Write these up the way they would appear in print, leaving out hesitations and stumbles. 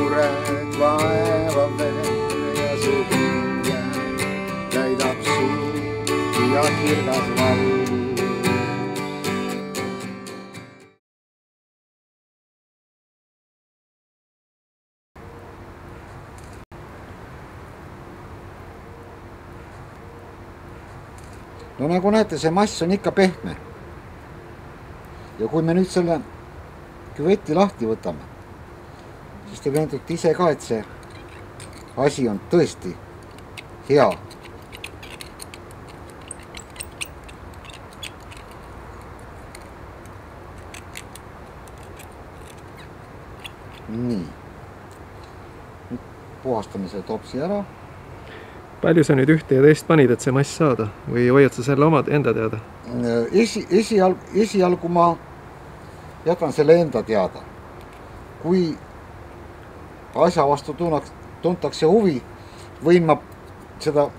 mured vaevad veel ja su hinge täidab suud ja kirgas vald. No nagu näete, see mass on ikka pehme. Ja kui me nüüd selle küveti lahti võtame, siis te veendute ise ka, et see asi on tõesti hea. Nii. Nüüd puhastame selle topsi ära. Palju sa nüüd ühte ja teist panid, et see mass saada? Või hoiad sa selle omad enda teada? Esialgu ma jätan selle enda teada. Kui asja vastu tuntakse huvi, võin ma seda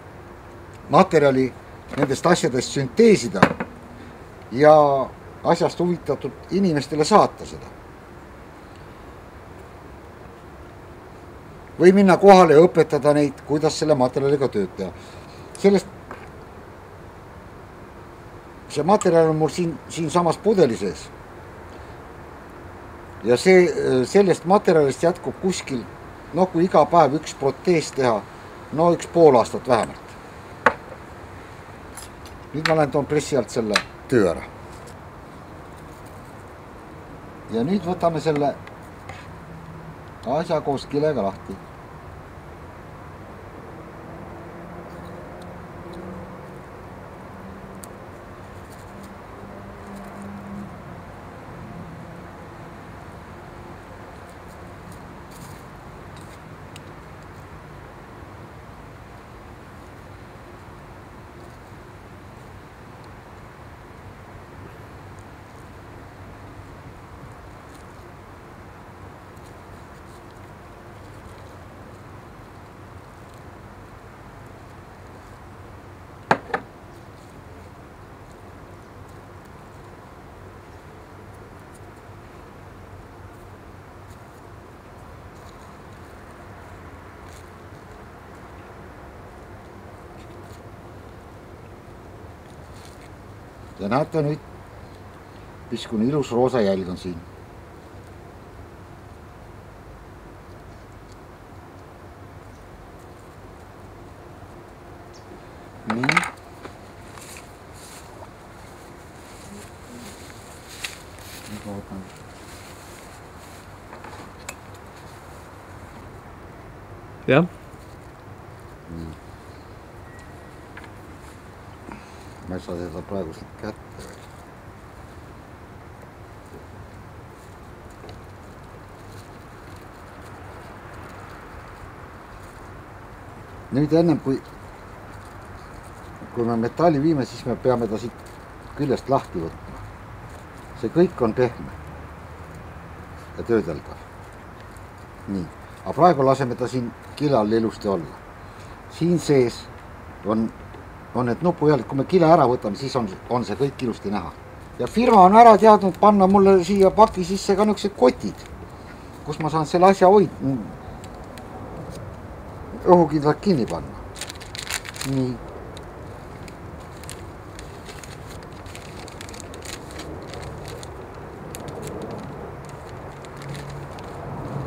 materjali nendest asjadest sünteesida ja asjast huvitatud inimestele saata seda. Või minna kohale ja õpetada neid, kuidas selle materjaliga tööd teha. See materjal on mul siin samas pudeli sees. Ja sellest materjalist jätkub kuskil, kui iga päev üks protees teha, üks pool aastat vähemalt. Nüüd ma lähen toon pressi alt selle töö ära. Ja nüüd võtame selle asja koos kilega lahti. Ja näete nüüd, missugune ilus roosa jälg on siin. Nii. Jah. Nii. Ma ei saa seda praegu siit kätte veel. Nüüd ennem kui me metalli viime, siis me peame ta siit küljest lahti võtma. See kõik on pehme ja töödeldav. Nii. Aga praegu laseme ta siin kilal ilusti olla. Siin sees on need nupujalad, kui me kile ära võtame, siis on see kõik ilusti näha. Ja firma on ära teadnud panna mulle siia paki sisse ka niisugused kotid, kus ma saan selle asja õhukindlalt kinni panna. Nii.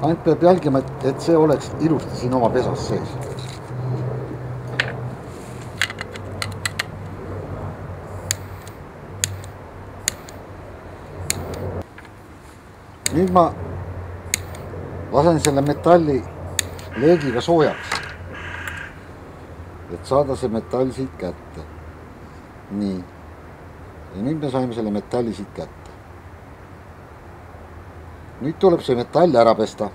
Ainult peab jälgima, et see oleks ilusti siin oma pesas sees. Nüüd ma lasen selle metalli leegiga soojaks, et saada see metall siit kätte. Nii. Ja nüüd me saime selle metalli siit kätte. Nüüd tuleb see metall ära pesta.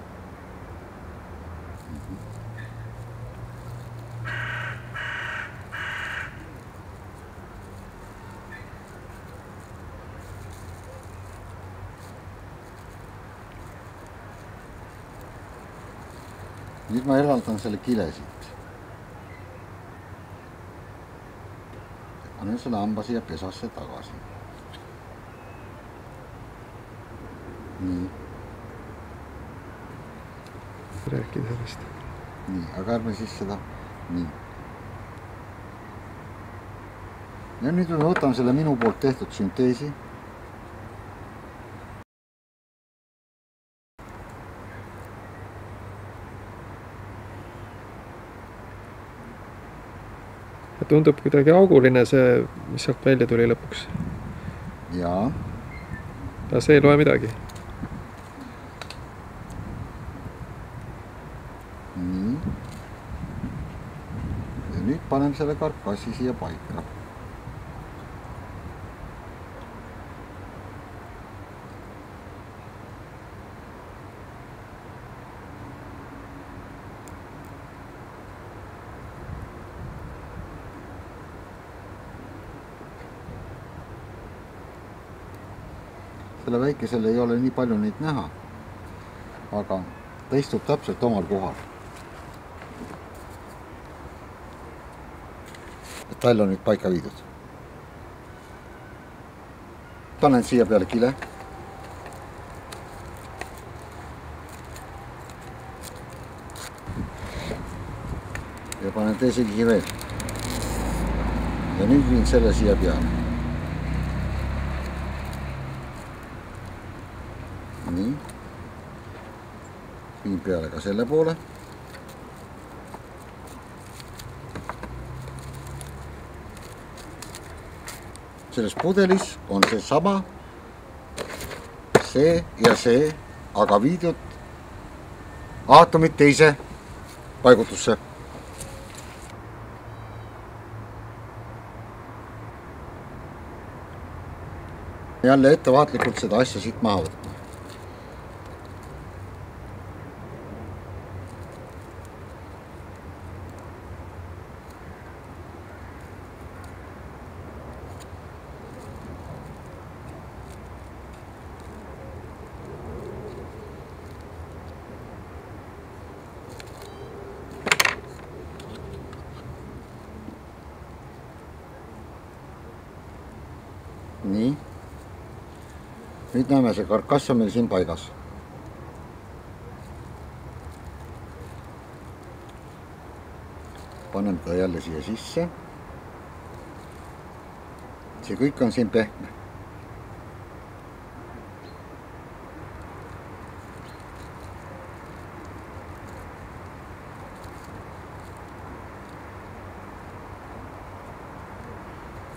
Nüüd ma eraldan selle kile siit. Panen selle hamba siia pesasse tagasi. Nii. rääkida sellest. Nii, aga ärme siis seda, nii. Ja nüüd me võtame selle minu poolt tehtud sünteesi. Tundub kuidagi auguline see, mis sealt välja tuli lõpuks. Jaa. Aga see ei loe midagi. Nii. Ja nüüd paneme selle karkassi siia paika. Selle väikesel ei ole nii palju neid näha, aga ta istub täpselt omal kohal. Tall on nüüd paika viidud. Panen siia peale kile. Ja panen teise kihi veel. Ja nüüd viin selle siia peale. Nii. Viin peale ka selle poole. Selles pudelis on see sama, see ja see, aga viidud aatomid teise paigutusse. Jälle ettevaatlikult seda asja siit maha võtma. Nii. Nüüd näeme, see karkass on meil siin paigas. Panen ta jälle siia sisse. See kõik on siin pehme.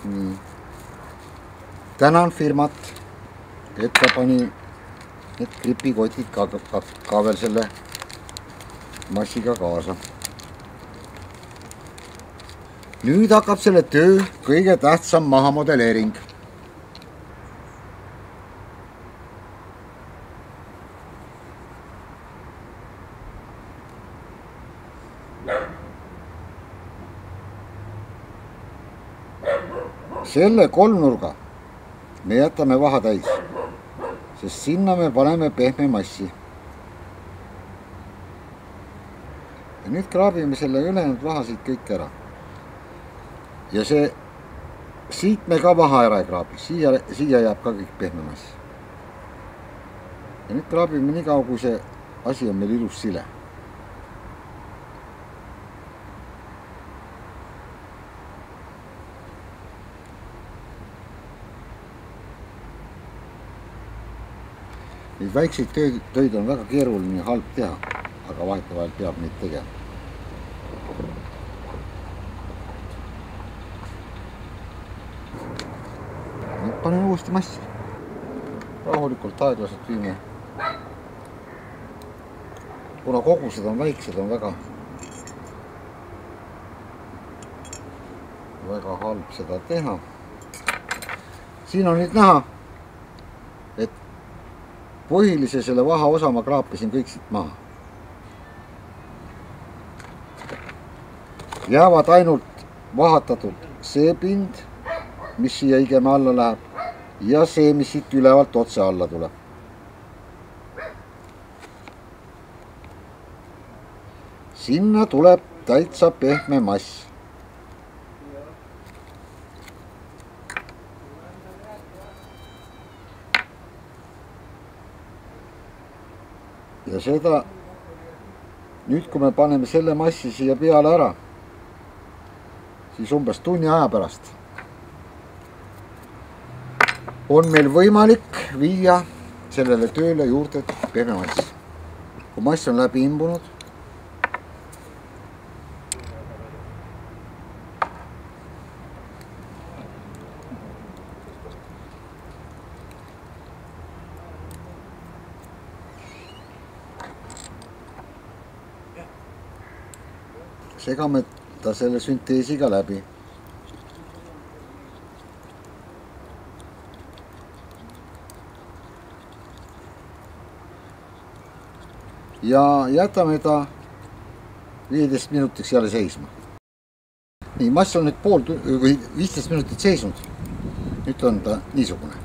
Nii. Tänan firmat, et ta pani need gripikotid ka veel selle massiga kaasa. Nüüd hakkab selle töö kõige tähtsam mahamodelleering. Selle kolmnurga me jätame vaha täis, sest sinna me paneme pehme massi. Ja nüüd kraabime selle ülejäänud vahasid kõik ära. Ja see siit me ka maha ära ei kraabi, siia jääb ka kõik pehme mass. Ja nüüd kraabime nii kaua, kui see asi on meil ilus sile. Neid väikseid töid on väga keeruline ja halb teha, aga vahetevahel peab neid tegema. Nüüd panen uuesti massi. Rahulikult aeglaselt viime. Kuna kogused on väiksed, on väga halb seda teha. Siin on nüüd näha, et põhilise selle vaha osa ma kraapisin kõik siit maha. Jäävad ainult vahatatud see pind, mis siia igeme alla läheb, ja see, mis siit ülevalt otse alla tuleb. Sinna tuleb täitsa pehme mass. Ja seda nüüd, kui me paneme selle massi siia peale ära, siis umbes tunni aja pärast on meil võimalik viia sellele tööle juurde pehme mass. Kui mass on läbi imbunud, segame ta selle sünteesiga läbi. Ja jätame ta 15 minutiks jälle seisma. Nii, mass on nüüd pool või 15 minutit seisnud. Nüüd on ta niisugune.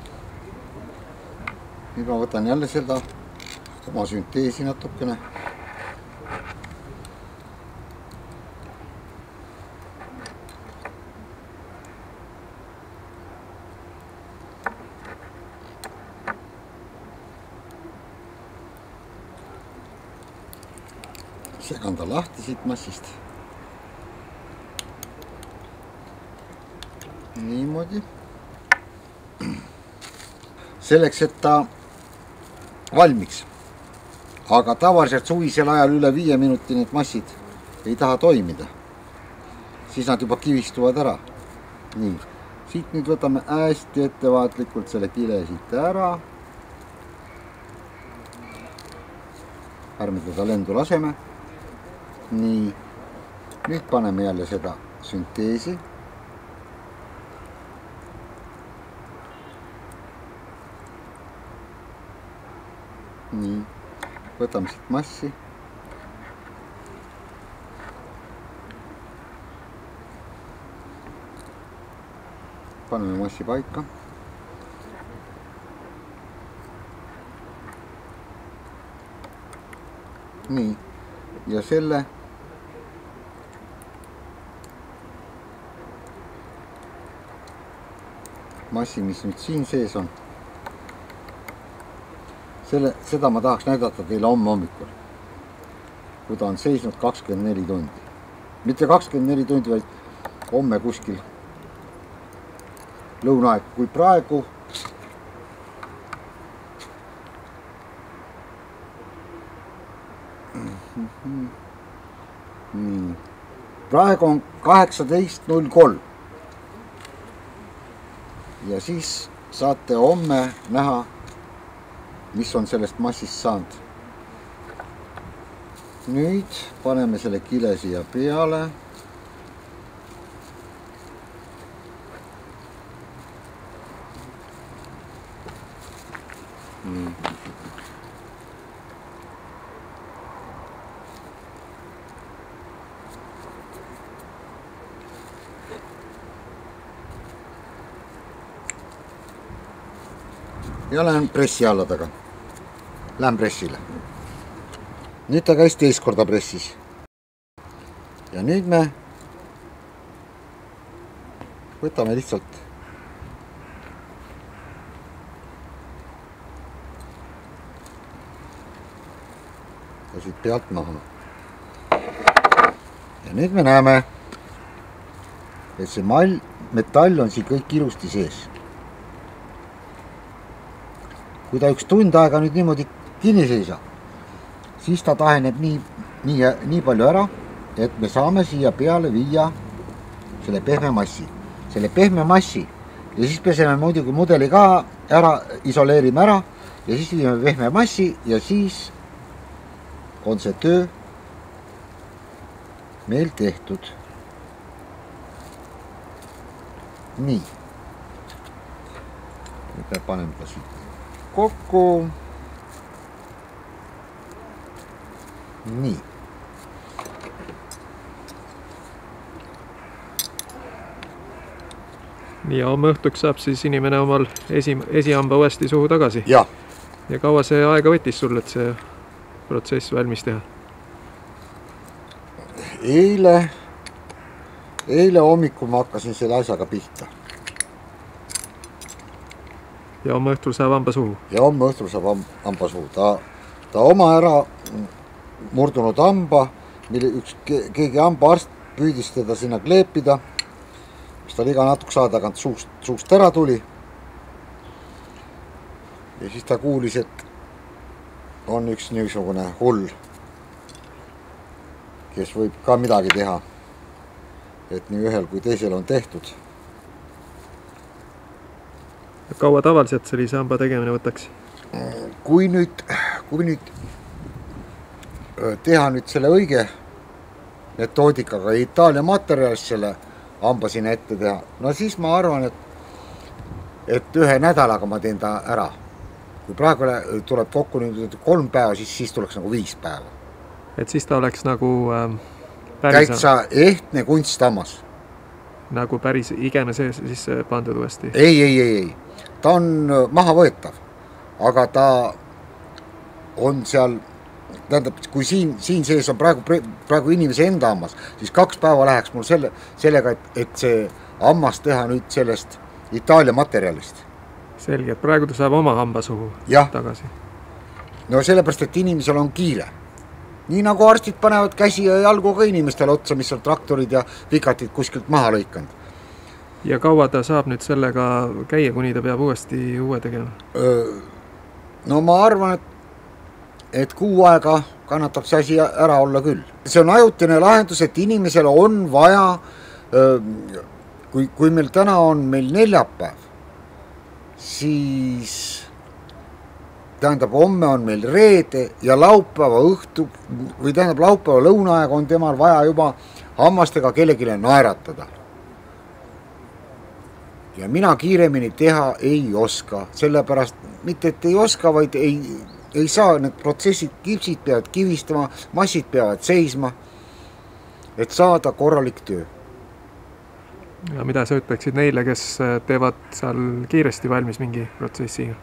Nüüd ma võtan jälle seda oma sünteesi natukene. Segan ta lahti siit massist. Niimoodi. Selleks, et ta valmiks. Aga tavaliselt suvisel ajal üle 5 minuti need massid ei taha toimida. Siis nad juba kivistuvad ära. Nii. Siit nüüd võtame hästi ettevaatlikult selle kile siit ära. Ärme teda lendu laseme. Nii, nüüd paneme jälle seda sünteesi. Nii, võtame siit massi. Paneme massi paika. Nii, ja selle massi, mis nüüd siin sees on, seda ma tahaks näidata teile homme hommikul, kui ta on seisnud 24 tundi. Mitte 24 tundi, vaid homme kuskil lõunaaeg, kui praegu praegu on 18.03 ja siis saate homme näha, mis on sellest massist saanud. Nüüd paneme selle kile siia peale. Ja lähen pressi alla taga. Lähen pressile. Nüüd ta käis teist korda pressis. Ja nüüd me võtame lihtsalt ja siit pealt maha. Ja nüüd me näeme, et see metall on siin kõik ilusti sees. Kui ta üks tund aega nüüd niimoodi kinni seisab, siis ta taheneb nii palju ära, et me saame siia peale viia selle pehme massi. Selle pehme massi ja siis peseme muidugi mudeli ka ära, isoleerime ära ja siis viime pehme massi ja siis on see töö meil tehtud. Nii. Nüüd me paneme ta siit kokku. Nii. Nii, homme õhtuks saab siis inimene omal esihamba uuesti suhu tagasi. Ja kaua see aega võttis sul, et see protsess valmis teha? Eile hommikul ma hakkasin selle asjaga pihta. Ja homme õhtul saab hamba suhu? Ja homme õhtul saab hamba suhu. Ta oma ära murdunud hamba, mille keegi hambaarst püüdis teda sinna kleepida, mis tal iga natukese aja tagant suust ära tuli. Ja siis ta kuulis, et on üks niisugune hull, kes võib ka midagi teha. Et nii ühel kui teisel on tehtud. Kaua tavaliselt sellise hamba tegemine võtaks? Kui nüüd teha nüüd selle õige metoodikaga Itaalia materjalist selle hamba sinna ette teha, no siis ma arvan, et 1 nädalaga ma teen ta ära. Kui praegu tuleb kokku nüüd 3 päeva, siis tuleks nagu 5 päeva. Et siis ta oleks nagu täitsa ehtne kunsthammas. Nagu päris igene sisse pandud uuesti? Ei. Ta on maha võetav, aga ta on seal, tähendab, kui siin sees on praegu inimese enda hammas, siis 2 päeva läheks mul sellega, et see hammas teha nüüd sellest Itaalia materjalist. Selge, et praegu ta saab oma hamba suhu tagasi. No sellepärast, et inimesel on kiire. Nii nagu arstid panevad käsi ja jalgu ka inimestele otsa, mis on traktorid ja vikatid kuskilt maha lõikanud. Ja kaua ta saab nüüd sellega käia, kuni ta peab uuesti uue tegema? No ma arvan, et 6 aega kannatab see asi ära olla küll. See on ajutine lahendus, et inimesel on vaja, kui meil täna on meil neljapäev, siis tähendab, homme on meil reede ja laupäeva õhtu, või tähendab, laupäeva lõunaaega on temal vaja juba hammastega kellegile naeratada. Ja mina kiiremini teha ei oska, sellepärast mitte, et ei oska, vaid ei saa, need protsessid, kipsid peavad kivistama, massid peavad seisma, et saada korralik töö. Ja mida sa ütleksid neile, kes teevad seal kiiresti valmis mingi protsessiga?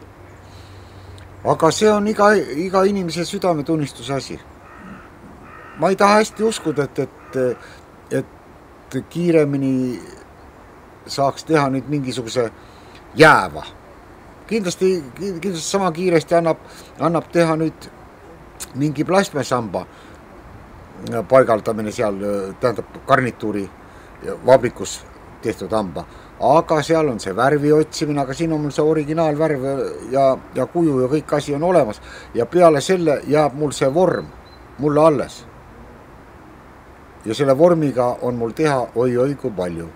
Aga see on iga inimese südametunnistuse asi. Ma ei taha hästi uskuda, et kiiremini saaks teha nüüd mingisuguse jääva. Kindlasti sama kiiresti annab teha nüüd mingi plasmasamba paigaldamine seal, tähendab garnituuri vabrikus tehtud hamba. Aga seal on see värvi otsimine, aga siin on mul see originaalvärv ja kuju ja kõik asi on olemas. Ja peale selle jääb mul see vorm mulle alles. Ja selle vormiga on mul teha oi kui palju.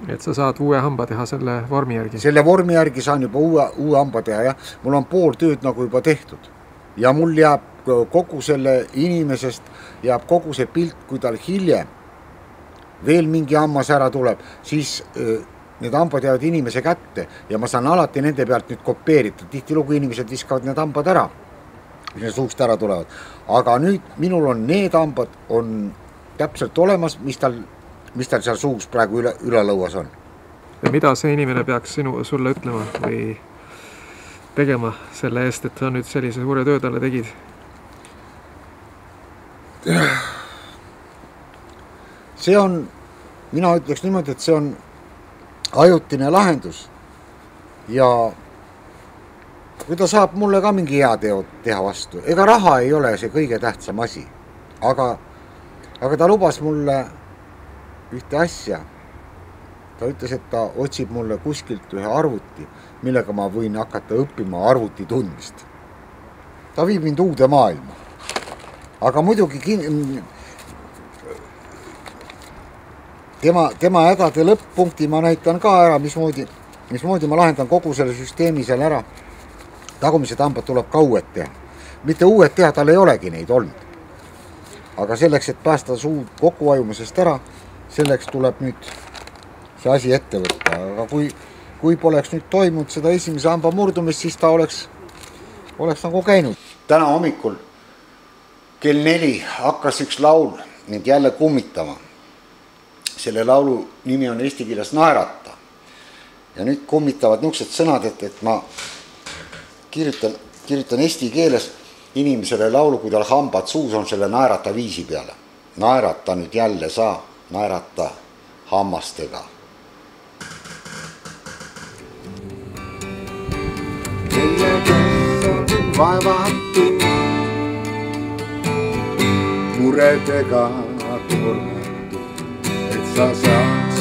Et sa saad uue hamba teha selle vormi järgi? Selle vormi järgi saan juba uue hamba teha, jah. Mul on pool tööd nagu juba tehtud. Ja mul jääb kogu selle inimesest, jääb kogu see pilt, kui tal hiljem veel mingi hammas ära tuleb, siis need hambad jäävad inimese kätte ja ma saan alati nende pealt nüüd kopeerida. Tihtilugu inimesed viskavad need hambad ära, mis need suust ära tulevad. Aga nüüd minul on need hambad on täpselt olemas, mis tal seal suus praegu üle lõuas on. Ja mida see inimene peaks sulle ütlema või tegema selle eest, et sa nüüd sellise suure töö talle tegid? See on, mina ütleks niimoodi, et see on ajutine lahendus ja kui ta saab mulle ka mingi hea teha vastu, ega raha ei ole see kõige tähtsam asi, aga ta lubas mulle ühte asja. Ta ütles, et ta otsib mulle kuskilt ühe arvuti, millega ma võin hakata õppima arvuti tundmist. Ta viib mind uude maailma. Aga muidugi tema hädade lõpp-punkti ma näitan ka ära, mismoodi ma lahendan kogu selle süsteemi seal ära. Tagumised hambad tuleb ka uued teha. Mitte uued teha, tal ei olegi neid olnud. Aga selleks, et päästa suu kokkuvajumusest ära, selleks tuleb nüüd see asi ette võtta. Aga kui poleks nüüd toimunud seda esimese hamba murdumist, siis ta oleks nagu käinud. Täna hommikul kell 4 hakkas üks laul nüüd jälle kummitama. Selle laulu nimi on eesti keeles Naerata. Ja nüüd kummitavad niisugused sõnad, et ma kirjutan eesti keeles inimesele laulu, kui tal hambad suus on selle naerata viisi peale. Naerata nüüd jälle sa, naerata hammastega. Kelle kes on vaevatu, muredega tormatu, et sa saaks